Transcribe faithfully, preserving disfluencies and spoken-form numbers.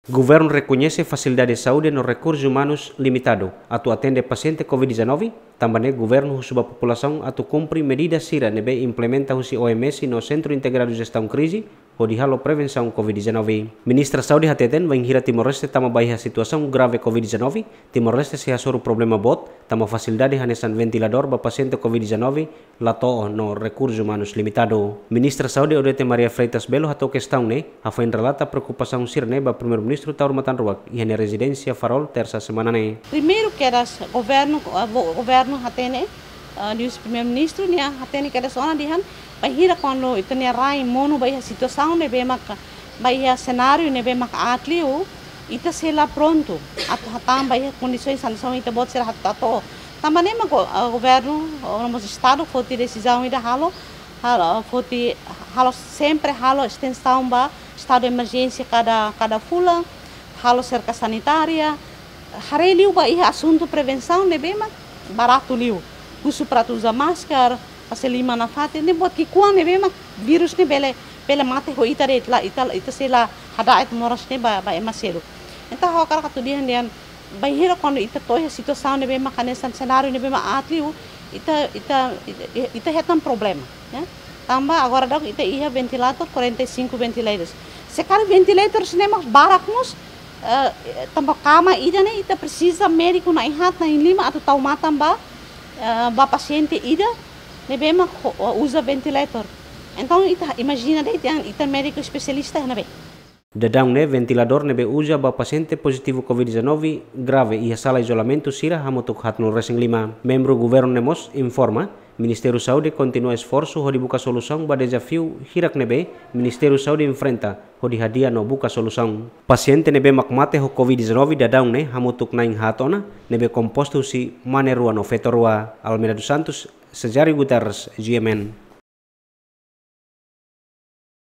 Governu rekoñese fasilidade saúde no rekursus umanus limitadu atu atende pasiente covid dezanove, tanba ne'e governu husu ba populasaun atu kumpre medida sira ne'ebé implementa husi O M S no Sentru Integradu Jestaun Krize, hodi halo prevensaun covid dezanove. Ministra Saúde hateten, bainhira Timor-Leste tama ba iha situasaun grave covid dezanove, Timor-Leste sei hasoru problema boot, tanba fasilidade hanesan ventiladór ba pasiente covid dezanove la to'o no rekursus umanus limitadu. Ministra Saúde Odete Maria Freitas Belo hato'o kestaun ne'e, hafoin relata preokupasaun sira-ne'e ba Primeiru-Ministru Taur Matan Ruak iha nia rezidénsia Farol, Tersa semana ne'e. Primeiru kedas governu, eh, go-, governu hatene, eh, liuhusi Primeiru-Ministru nia hatene kedas ona dehan, bainhira kuandu ita-nia rai monu ba iha situasaun ne'ebé maka, ba iha senáriu ne'ebé maka aat liu, ita sei la prontu atu hatán ba iha kondisaun sansaun ita-boot sira hato'o. Tanba ne'e mak go-, eh, governu, eh, no mós Estadu foti desizaun ida halo, halo, foti, halo sempre halo estensaun ba estadu de emerjénsia kada, kada fulan, halo serka sanitária, haree liu ba iha asuntu prevensaun ne'ebé mak baratu liu. Husu para atu uza masker, fase liman nafatin, ne'e buat ki'ikoan ne'ebé mak vírus ne'e bele, bele mate ho ita de'it, la ita, ita sei la hada'et moras ne'e ba, ba ema seluk. Entaun ha'u hakarak atu dehan dehan, bainhira kuandu ita to'o iha situasaun ne'ebé mak hanesan senáriu ne'ebé mak aat liu, ita, ita, ita, ita hetan problema, ya. Tanba agora daudaun ita iha ventilator, quarenta e cinco ventilators. Se karik ventilators ne'e mak barak mós, eh, tanba kama ida ne'e ita presiza médiku na'in haat, na'in lima atu tau matan ba, eh, ba pasiente ida ne'ebé mak ho-, uza ventilator. Entaun ita imajina de'it dehan ita médiku espesialista iha ne'ebé. Daudaun ne'e ventiladór ne'ebé uza ba pasiente pozitivu covid dezanove grave iha sala izolamentu sira hamutuk haatnulu-resin-lima. Membru governu ne'e mós informa, Ministériu Saúde kontinua esforsu hodi buka solusaun ba dezafiu hirak ne'ebé Ministériu Saúde enfrenta hodi hadi'a no buka solusaun. Pasiente ne'ebé mak mate ho covid dezanove daudaun ne'e hamutuk na'in haat ona, ne'ebé kompostu husi mane rua no feto rua. Almeida dos Santos, Cesário Guterres, G M N.